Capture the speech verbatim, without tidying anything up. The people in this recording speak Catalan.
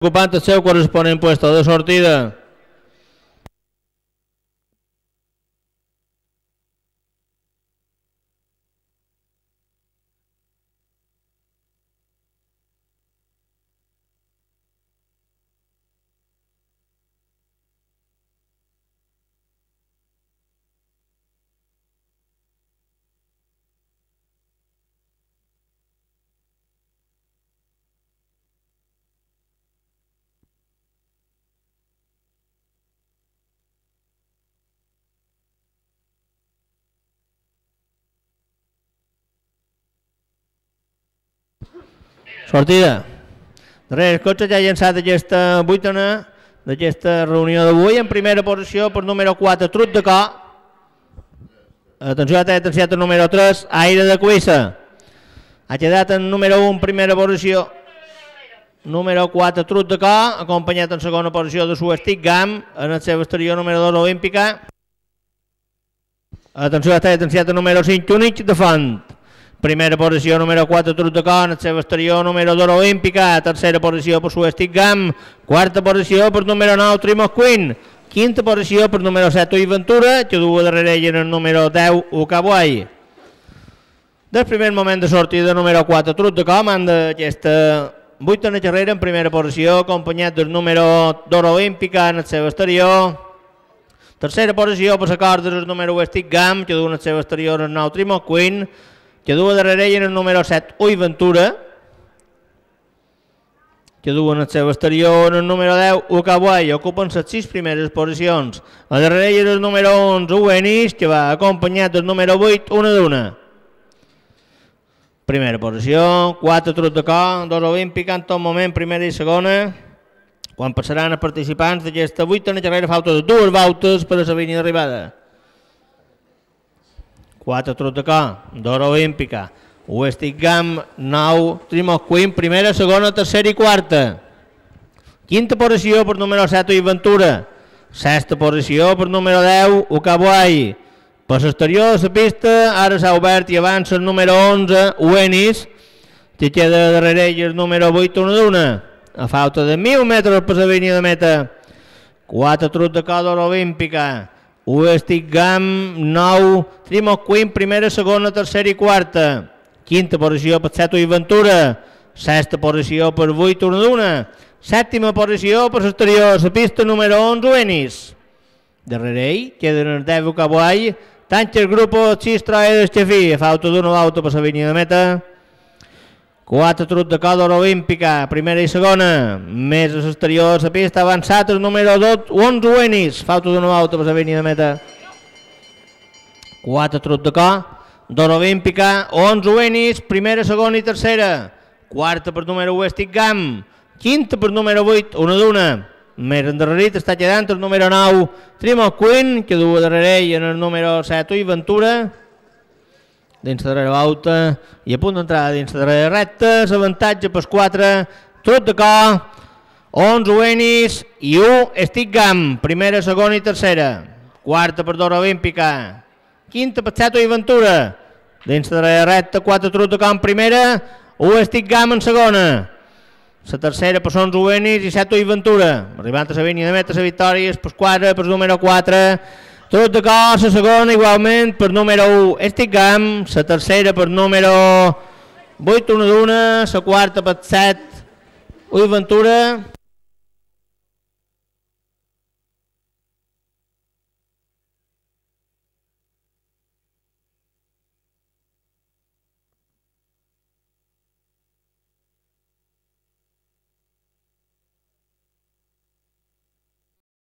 ocupant el seu corresponent puesto de sortida. Sortida. Darrere el cotxe ja ha llançat aquesta vuitena d'aquesta reunió d'avui. En primera posició per número quatre, Trut de Cor. Atenció, ha atenciat el número tres, Aire de Cuissa. Ha quedat en número un, primera posició. Número quatre, Trut de Cor, acompanyat en segona posició de Suestic Gam, en el seu exterior número dos, Olímpica. Atenció, ha atenciat el número cinc, Únic de Font. Primera posició, número quatre, Trut de Cor, en el seu exterior, número dos, Olímpica. Tercera posició per Suestic Gam. Quarta posició per número nou, Trimos Queen. Quinta posició per número set, Ui Ventura, que du darrere ell en el número deu, Ucabuai. Del primer moment de sortida, número quatre, Trut de Cor, manda aquesta vuitena carrera en primera posició, acompanyat del número dos, Olímpica, en el seu exterior. Tercera posició per la corda del número Suestic Gam, que du en el seu exterior el nou, Trimos Queen, que du darrere ell en el número set, Ui Ventura, que du en el seu exterior en el número deu, Ucabuai, ocupen les sis primeres posicions. A darrere ell el número onze, Uenis, que va acompanyat del número vuit, Una d'Una. Primera posició, quatre Trut de Cor, dos Olímpica, en tot moment, primera i segona, quan passaran els participants d'aquesta vuitena carrera, falta de dues voltes per a la línia d'arribada. quatre Trut de Cor, dos Olímpica, Suestic Gam, nou, Trimos Queen, primera, segona, tercera i quarta. Quinta posició per número set, Ui Ventura. Sexta posició per número deu, Ucabuai. Per l'exterior de la pista, ara s'ha obert i avança el número onze, Uenis, que queda darrere ell el número vuit, Una d'Una. A falta de mil metres per la línia de meta. quatre Trut de Cor, dos Olímpica. Suestic Gam, nou, Trimos Queen, primera, segona, tercera i quarta. Quinta posició per set, Ui Ventura. Sexta posició per vuit, Una d'Una. Sèptima posició per l'exterior, la pista número onze, Uenis. Darrere ell queden el deu, Ucabuai. Tanca el grup sis Troedes Xafí, a falta d'una volta per la línia de meta. quatre Trut de Cor, dos Olímpica, primera i segona. Més a l'exterior de la pista, avançat el número dos, onze Uenis, falta d'una volta per la línia de meta. quatre Trut de Cor, dos Olímpica, onze Uenis, primera, segona i tercera. Quarta per número Suestic Gam. Quinta per número vuit, Una d'Una. Més endarrerit està quedant el número nou, Trimos Queen, que du darrere ell en el número set, Ui Ventura. Dins de darrere volta i a punt d'entrar dins de darrere recta. L'avantatge per quatre, Trut de Cor, onze Uenis i un Suestic Gam, primera, segona i tercera. Quarta per dos Olímpica. Quinta per set, Ui Ventura. Dins de darrere recta, quatre Trut de Cor en primera, un Suestic Gam en segona. La tercera per onze Uenis i set Ui Ventura. Arribant a la línia de meta, la victòria és per quatre, per número quatre. Trut de Cor, la segona igualment per número un, Suestic Gam, la tercera per número vuit, Una d'Una, la quarta per set, Ui Ventura.